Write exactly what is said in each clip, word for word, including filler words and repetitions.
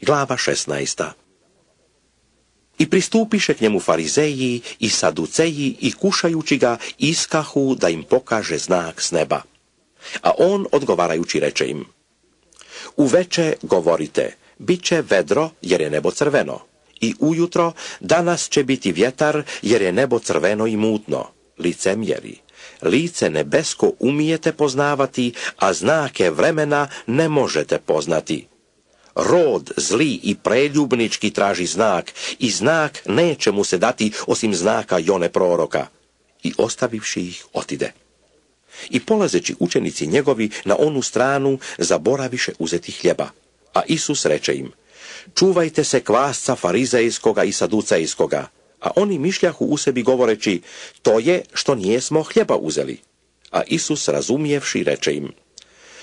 Glava šesnaesta. I pristupiše k njemu farizeji i saduceji i kušajući ga iskahu da im pokaže znak s neba. A on odgovarajući reče im: Uveče govorite, bit će vedro jer je nebo crveno. I ujutro, danas će biti vjetar jer je nebo crveno i mutno. Licemjeri, lice nebesko umijete poznavati, a znake vremena ne možete poznati. Rod zli i preljubnički traži znak, i znak neće mu se dati osim znaka Jone proroka. I ostavivši ih, otide. I polazeći učenici njegovi na onu stranu, zaboraviše uzeti hljeba. A Isus reče im: Čuvajte se kvasca farizejskoga i saducejskoga. A oni mišljahu u sebi govoreći: To je što nijesmo hljeba uzeli. A Isus razumijevši reče im: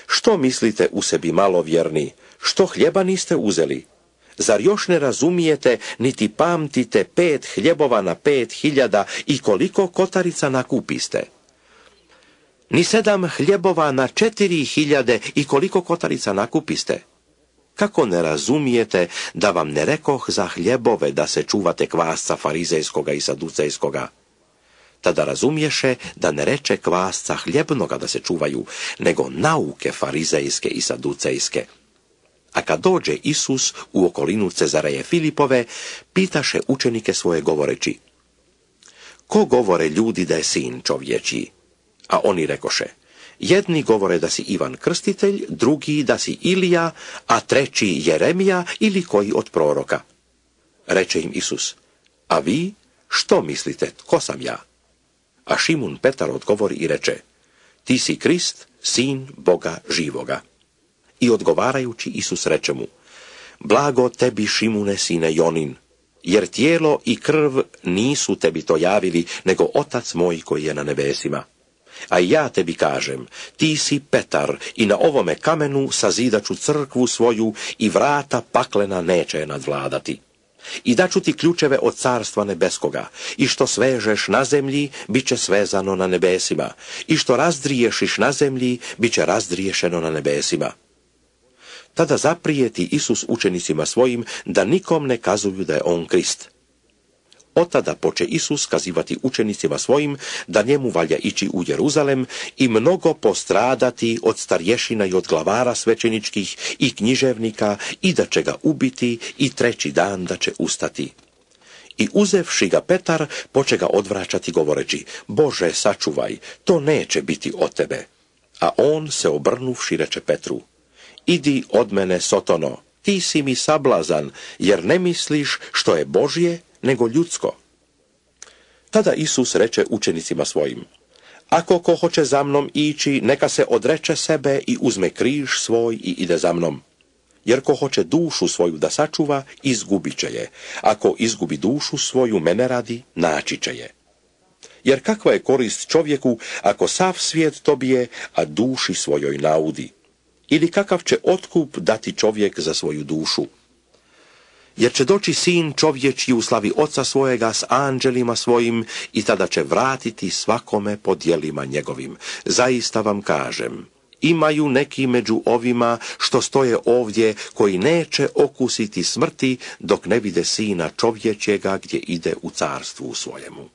Što mislite u sebi malovjerni, što hljeba niste uzeli? Zar još ne razumijete, niti pamtite pet hljebova na pet hiljada i koliko kotarica nakupiste? Ni sedam hljebova na četiri hiljade i koliko kotarica nakupiste? Kako ne razumijete da vam ne rekoh za hljebove da se čuvate kvasca farizejskoga i saducejskoga? Tada razumješe da ne reče kvasca hljebnoga da se čuvaju, nego nauke farizejske i saducejske. A kad dođe Isus u okolinu Cezareje Filipove, pitaše učenike svoje govoreći: Ko govore ljudi da je sin čovječiji? A oni rekoše: Jedni govore da si Ivan Krstitelj, drugi da si Ilija, a treći Jeremija ili koji od proroka. Reče im Isus: A vi što mislite, ko sam ja? A Šimun Petar odgovori i reče: Ti si Krist, sin Boga živoga. I odgovarajući Isus reče mu: Blago tebi, Šimune, sine Jonin, jer tijelo i krv nisu tebi to javili, nego Otac moj koji je na nebesima. A ja tebi kažem, ti si Petar i na ovome kamenu sazidaću crkvu svoju i vrata paklena neće je nadvladati. I daću ti ključeve od carstva nebeskoga, i što svežeš na zemlji, bit će svezano na nebesima, i što razdriješiš na zemlji, bit će razdriješeno na nebesima. Tada zaprijeti Isus učenicima svojim da nikom ne kazuju da je on Krist. Otada poče Isus kazivati učenicima svojim da njemu valja ići u Jeruzalem i mnogo postradati od starješina i od glavara svećeničkih i književnika i da će ga ubiti i treći dan da će ustati. I uzevši ga Petar, poče ga odvraćati govoreći: Bože, sačuvaj, to neće biti od tebe. A on se obrnuvši reče Petru: Idi od mene, Sotono, ti si mi sablazan, jer ne misliš što je Božje, nego ljudsko. Tada Isus reče učenicima svojim: Ako ko hoće za mnom ići, neka se odreče sebe i uzme križ svoj i ide za mnom. Jer ko hoće dušu svoju da sačuva, izgubit će je. Ako izgubi dušu svoju mene radi, naći će je. Jer kakva je korist čovjeku ako sav svijet dobije, a duši svojoj naudi? Ili kakav će otkup dati čovjek za svoju dušu? Jer će doći sin čovječji u slavi oca svojega s anđelima svojim i tada će vratiti svakome po djelima njegovim. Zaista vam kažem, imaju neki među ovima što stoje ovdje koji neće okusiti smrti dok ne vide sina čovječjega gdje ide u carstvu svojemu.